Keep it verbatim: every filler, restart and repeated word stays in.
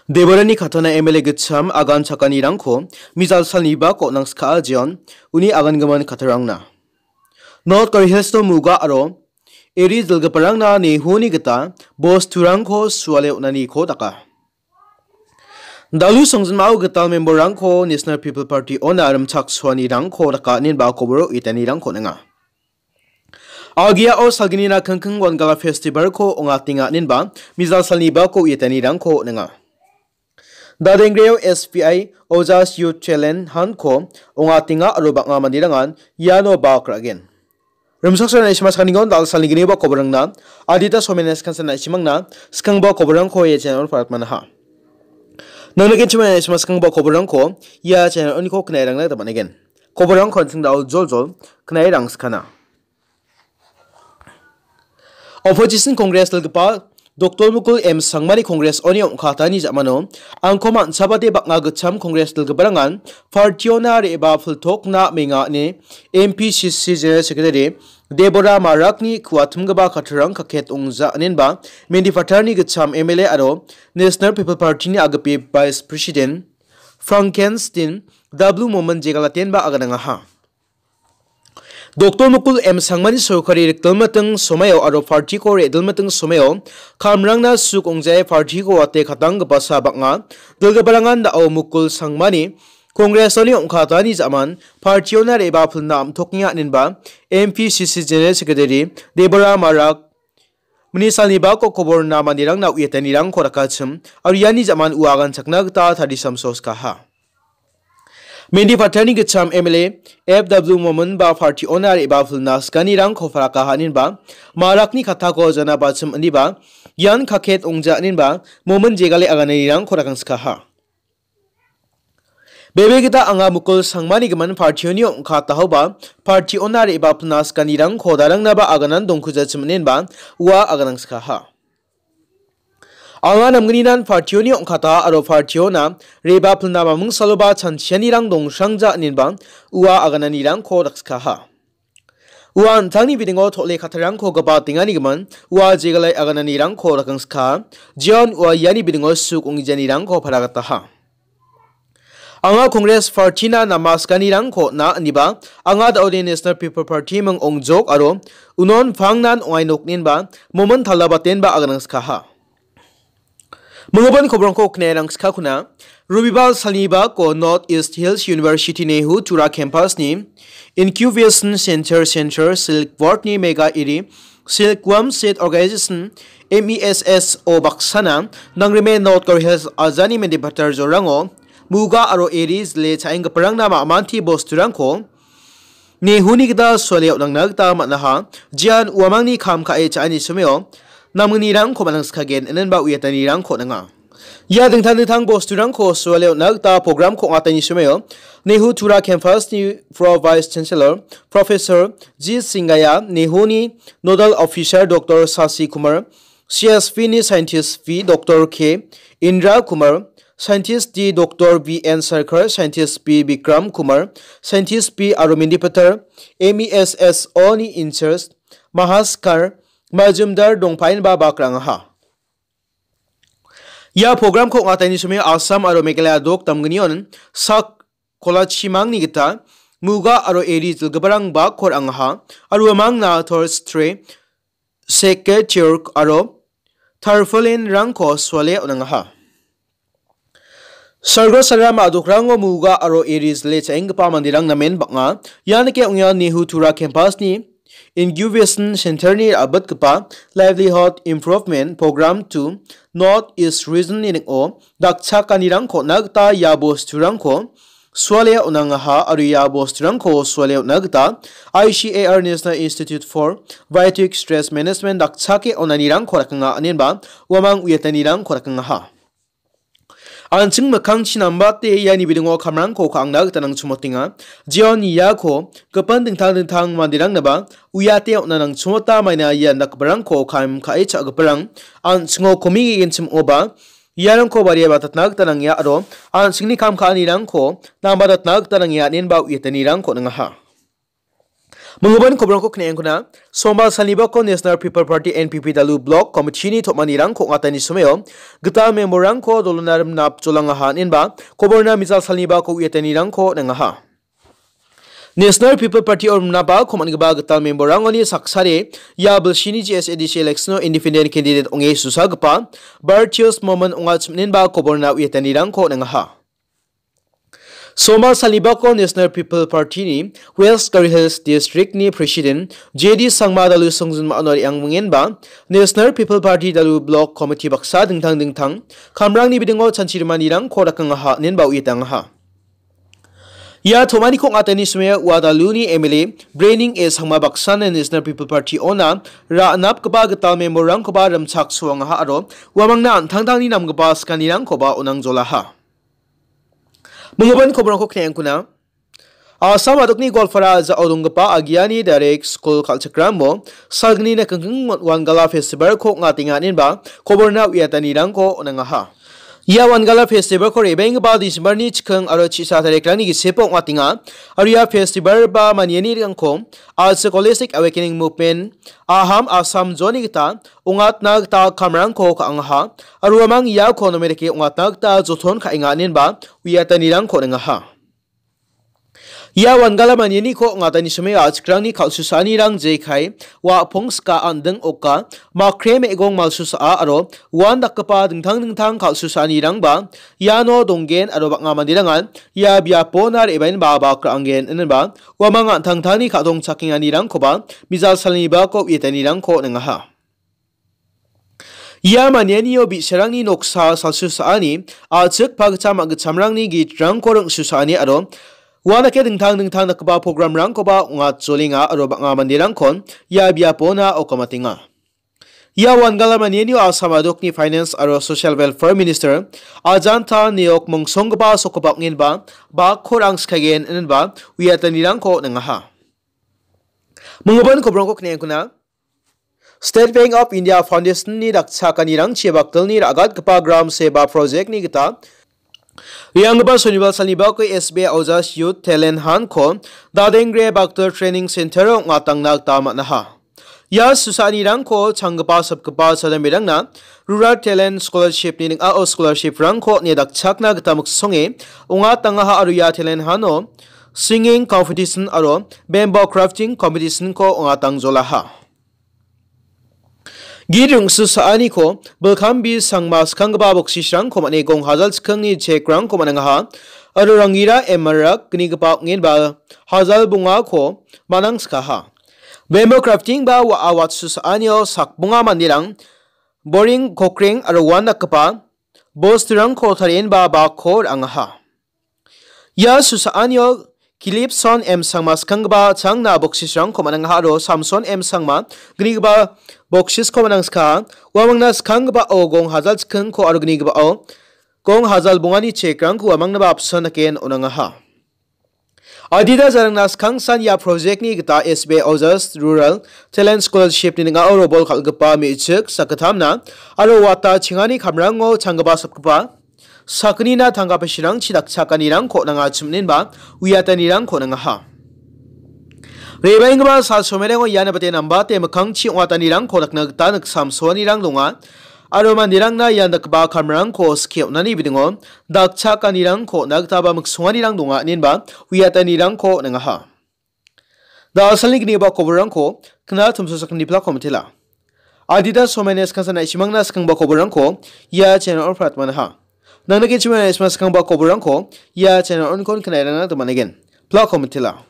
Deborani katana M L A gitcham agan chakanirangko mijal salni bako nangskaa jeon uni agangimin katarangna. North Garo Hills-o Muga aro Eri dilgiparangna Nehuni gita bosturangko suale on·aniko daka. Dalu songjinmao gital memberrangko National People Party-ona rimchaksoanirangko daka inenba koboro uitanirangko ninga. Agiao salginina kingking Wangala Festival-ko ong·atenga inenba mijal salni bako uitanirangko ninga. Dadengreo S P I Ojas Youth Challenge Hunt-ko ong·atenga aro bang·a manderangan iano bak ra·gen. Rimchaksoani simas kanigon dal salni gniba koborangna adita somenes kansan na·simangna skangba koborangko ia channel paratmanaha. Nangnikenchimani simas skangba koborangko ia channel oniko knairangna damanegen. Koborangko an·ching dao joljol knairang skana. Opposition Congress dilgipa Doctor Mukul M Sangmani Congress-oni ong·katani ja·mano angko man·chabate bang·a gitcham Congress dilgiparangan party-ona re·bapiltokna menga ine M P C C General Secretary Debora Marakni kuatimgipa kattarang kaket ong·ja inenba Mendipatarni gitcham M L A aro National People Party-ni agipi Vice President Frankenstein W Momin jegalatenba aganangaha. Doctor Mukul M Sangmani sorkari rikdilmiting somaio aro party-ko re·dilmiting somaio kamrangna suk ong·jae party-ko wate katanggipasa bang·a dilgiparangan da·o Mukul Sangmani Congress-oni ong·katani ja·man party-ona re·bapilna am·tokenga inenba M P C C General Secretary Debora Marak mini salni bako koborna manderangna uiatanirangko rakachim aro iani ja·man ua aganchakna gita tarisamsoskaha. Mendipatarni gitcham M L A F W Momin ba party-ona re·bapilna skanirangko parakaha inenba Marakni katako janabachim ineba ian kaket ong·ja inenba Momin jegale agananirangko rakangskaha. Bebe gita anga Mukul Sangmani gimin party-oni ong·katahoba party-ona re·bapilna skanirangko darangnaba aganan dongkujachim inenba ua aganangskaha. Anga namgninan party-oni ong·kata aro party-ona re·bapilna maming saloba chanchianirang dongsrangja inenba ua agananirangko dakskaha. Ua an·tangni bidingo tole kattarangko gabatenganigimin ua jegalai agananirangko dakangskaha. Jeon ua iani bidingo suk ong·gijanirangko paragataha. Anga Congress Party-na namaskanirangko na iniba, anga da·ode National People Party ming ongjok aro unon pangnan ong·ai nokninba momin talabatenba aganangskaha. Minggipa kobrongko knerangskakuna, Robibar salnibako North East Hills University Nehu Tura Campus-ni Incubation Center Center Silk Board-ni mega iri Silkworm Seed Organization, M E S S O baksana, nangrime North Garo Hills ajani Mendipatar jorango, Muga aro Eri jile cha·enggiparangna ma·manti bosturangko Nehuni gita suale on·angna gita man·aha, jean uamangni kam ka·e cha·ani someo, namgnirangko man·angskagen, inenba uiatanirangko on·anga. Ia dingtang dingtang bosturangko suale on·na gita program-ko ong·atani someo, Nehu Tura Campus-ni Pro Vice Chancellor, Professor G Singaya, Nehuni Nodal Officer Doctor Sasi Kumar, C S V-ni Scientist V Doctor K Indra Kumar, Scientist D Doctor V N Sarkar, Scientist B Bikram Kumar, Scientist B aro Mendipatar M E S S O-ni in-charge Mahaskar Majumdar dongpaenba bak ra·angaha. Ia program-ko ong·atani somoi Assam aro Meghalaya dok damgnion sak kolachimangni gita Muga aro Eri dilgiparang bak ra·angaha aro uamangna Thors Tre, Seke Tiork aro Tarpaulin-rangko suale on·angaha. Sargo saram a·dokrango Muga aro Eri jile cha·enggipa manderang namen bang·a. Ianike ong·a Nehu Tura Campus-ni Incubation Center-ni ra·bitgipa Livelihood Improvement Program to North East Region-ni ning·o dakchakanirangko on·na gita ia bosturangko suale on·angaha aro ia bosturangko suale on·na gita I C A R National Institute for Biotic Stress Management dakchake on·anirangko ra·kanga, inenba uamang uiatanirangko ra·kangaha. An·ching mikkangchi nambate iani bidingo kamrangko ka·angna gita nangchimotenga. Jeon iako gipin dingtang dingtang manderangnaba uiate on·na nangchimota maina ia dakgiparangko kam ka·e cha·giparang an·chingo komi ge·genchim ong·oba iarangko bariaba tatna gita nangia aro an·chingni kam ka·anirangko namba tatna gita nangia inenba uiatanirangko on·angaha. Minggipa koborangko kneangkuna, Sombar salnibako National People Party, N P P, Dalu Block Committee-ni tom·anirangko ong·atani somao gital member-rangko dolona rimnap jolangaha, inenba koborna mijal salnibako uiatanirangko nangaha. National People Party-o rimnaba komangipa gital member-rangoni saksade ia bilsini G S A D C election-o independent candidate ong·e susagipa Bartios Momon ong·achim, inenba koborna uiatanirangko nangaha. Sombar salnibako National People Party-ni West Garo Hills District-ni President J D Sangma Dalu songjinma onori angmengenba National People Party Dalu Block Committee baksa dingtang dingtang kamrangni bidingo chanchi rimanirangko dakangaha, inenba uiatangaha. Ia tom·aniko ong·atani somao ua Daluni M L A Brening A Sangma baksana National People Party-ona ra·napgipa gital member-rangkoba rimchaksoangaha aro uamangna an·tangtangni namgipa skanirangkoba onangjolaha. Minggipa koborangko kneangkuna. Assam adokni Goalpara a·jao donggipa Agiani Direct School kal·chikramo salgni nikengkeng Wangala Festival-ko ong·atenga, inenba koborna uiatanirangko nangaha. Ia Wangala Festival-ko rebenggipa December-ni chiking aro chisa tarikrangni gisepo ong·atenga. Aro ia festival ba manianirangko A C Holistic Awakening Movement, Aham Assam Zone-ni gita ong·atna gita kamrangko ka·angaha. Aro uamang iako name dake ong·atna gita joton ka·enga, inenba uiatanirangko nangaha. Ia Wangala manianiko ong·atani somao a·chikrangni kal·susaanirang jekai, wa·pong ska, an·ding oka, makre me·gong malsusaa aro uandakgipa dingtang dingtang kal·susaanirangba iano donggen aro bang·a manderangan ia biapona re·baenba bak ra·angen, inenba uamang an·tangtangni ka·dongchakenganirangkoba mijal salnibako uiatanirangko nangaha. Ia manianio bi·sarangni noksa salsusaani, a·chik pagitcham a·gitchamrangni gitrangko ring·susaani aro uandake dingtang dingtang dakgipa programrangkoba ong·atjolenga aro bang·a manderangkon ia biapona okamatenga. Ia Wangala manianio Assam adokni Finance aro Social Welfare Minister Ajanta Neok mongsonggipa sokgipa ong·enba bakko rang skagen, inenba uiatanirangko nangaha. Minggipa koborangko kneangkuna. State Bank of India Foundation-ni dakchakanirangchi bakdilni ra·gatgipa Gram Seva Project-ni gita re·anggipa sonibal salnibako S B I Ojas Youth Talent Hunt-ko Dadengre Bakdil Training Center-o ong·atangna gita man·aha. Ia susaanirangko changgipa sapgipa chadamberangna Rural Talent Scholarship-ni ning·ao scholarship-rangko nie dakchakna gita miksonge ong·atangaha aro ia talent hunt-o singing competition aro bamboo crafting competition-ko ong·atangjolaha. Git ring·susaaniko Bilkambi Sangma skanggipa boksisrangko man·e gong hajal chikkingni chekrangko man·angaha. Aro Rangira M Marak gnigipa ong·enba hajal bongako man·angskaha. Bamboo crafting ba wa·, a watsusaanio sakbonga manderang boring, kokreng aro uandakgipa bosturangko tarienba bakko ra·angaha. Ia susaanio Kilipson M Sangma skanggipa changna boksisrangko man·angaha aro Samson M Sangma gnigipa boksisko man·angskaha. Uamangna skanggipao gong hajal chikkingko aro gnigipao gong hajal bongani chekrangko uamangnaba apsan dake on·angaha. Adita jarangna skangsan ia project-ni gita S B I Ojas Rural Talent Scholarship-ni ning·ao robol kal·gipa me·chik sakgittamna aro wata chingani kamrango changgipa sapgipa sakgnina tangka pachirangchi dakchakanirangko nangachim inenba uiatanirangko nangaha. Rebaenggipa sal somerengo ian bate nambate mikkangchi ong·atanirangko dakna gita niksamsoanirang donga. Aro manderangna ian dakgipa kamrangko skie on·ani bidingo dakchakanirangko on·a gitaba miksonganirang donga inenba uiatanirangko nangaha. Da·alsalni gniba koborrangko kna tumsosakni plako mitela. Adita somaina skangsan na·simangna skangba koborrangko ia channel-o pratmanaha. Nangna kechimana isma skangba koborrangko ia channel-onkon knairangna domanegen. Plako mitela.